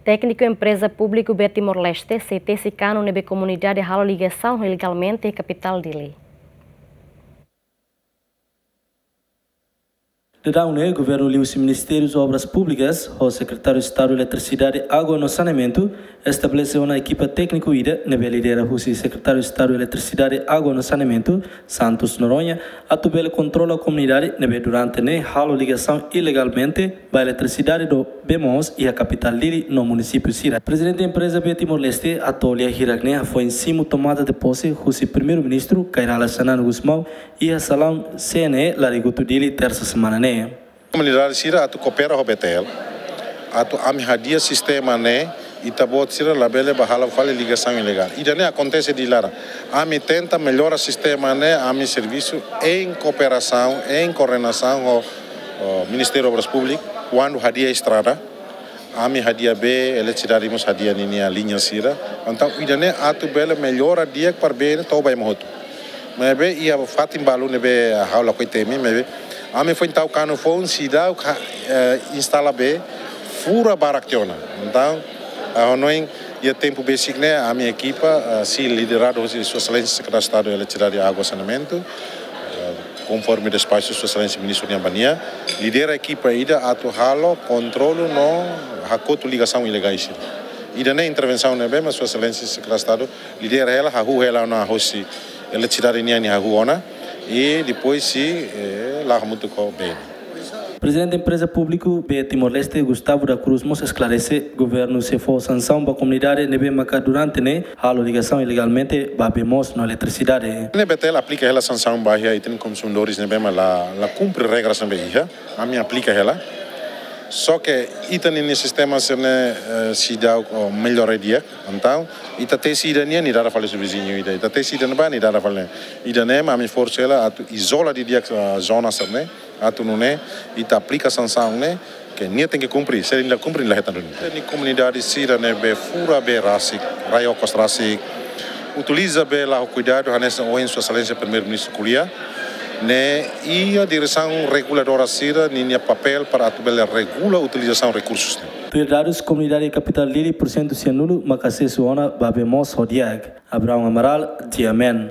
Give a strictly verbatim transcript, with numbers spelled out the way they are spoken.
Tékniku empreza públiku B Timor-Leste sei tesi kanu ne'ebé komunidade halo ligasaun ilegalmente iha kapitál Dili. Daudaun ne'e, governu liuhusi Ministériu Obras Públikas ho Sekretáriu Estadu Eletrisidade, Água no Saneamentu estabelese ona ekipa tékniku ida ne'ebé lidera husi Sekretáriu Estadu Eletrisidade, Água no Saneamentu, Santos Noronha, atu bele kontrola komunidade ne'ebé durante ne'e halo ligasaun ilegalmente ba eletrisidade no bee moos iha kapitál Dili no munisípiu sira. Prezidente empreza B Timor-Leste, Atolia, hirak ne'e hafoin simu tomada de pose husi Primeiru-Ministru Kay Rala Xanana Gusmão iha salaun C N E Larigutu, Dili, tersa semana ne'e. Komunidade sira atu koopera ho B T L, atu ami hadi'a sistema ne'e, ita-boot sira labele bá halo fali ligasaun ilegál. Ida-ne'e akontese di laran. Ami tenta mellora sistema ne'e, ami servisu em kooperasaun, em koordenasaun ho, ho Ministériu Obras Públikas, kuandu hadi'a estrada, ami hadi'a bee, eletrisidade mós hadi'a ninia liña sira. Entaun, ida-ne'e atu bele mellora di'ak para bee ne'e to'o ba ema hotu. Maibé iha fatin balu ne'ebé ha'u lakohi temi, maibé ami foin tau kanu foun seidauk, eh, instala bee, fura barak tiha ona. Entaun, ah, hanoin iha tempu besik ne'e, ami ekipa, ah, sei lideradu husi Sua Exelénsia Sekretáriu Estadu Eletrisidade, Água, Saneamentu, eh, konforme despaxu Sua Exelénsia Ministru nian ba nia, lidera ekipa ida atu halo kontrolu no hakotu ligasaun ilegais sira. Ida-ne'e intervensaun ne'ebé mak Sua Exelénsia Sekretáriu Estadu lidera hela, hahú hela ona hosi eletrisidade nian nia hahú ona, i depois sei, eh, la'o hamutuk ho bee. Prezidente empreza públiku B Timor-Leste, Gustavo da Cruz, mós esklarese governu sei fó sansaun ba komunidade ne'ebé maka durante ne'e halo ligasaun ilegalmente ba bee moos no eletrisidade. Ne'e B T L aplika hela sansaun ba iha ita-nia konsumidores ne'ebé mak la, la kumpre regras ne'ebé iha, ami aplika hela. Só ke ita-nia sistema sira-ne'e, eh, seidauk, oh, mellora di'ak. Entaun, ita tesi ida nian, nia dada fali husi viziñu ida. Ita tesi ida ne'ebá, nia dada fali. Ida-ne'e mak ami forsa hela atu izola didi'ak, ah, zona sira-ne'e, atu nune'e ita aplika sansaun ne'e, ke nia tenke kumpre, se nia la kumpre, nia la hetan duni. Ita-nia komunidade sira ne'ebé fura bee rasik, rai okos rasik, utiliza bee la ho kuidadu, hanesan ohin Sua Exelénsia Primeiru-Ministru ko'alia, ne'e iha diresaun reguladora sira ninia papél para atu bele regula utilizasaun rekursus ne'e. Tuir dadus, komunidade kapitál Dili porsentu sianulu maka asesu ona ba bee moos ho di'ak. Abraão Amaral, G M N.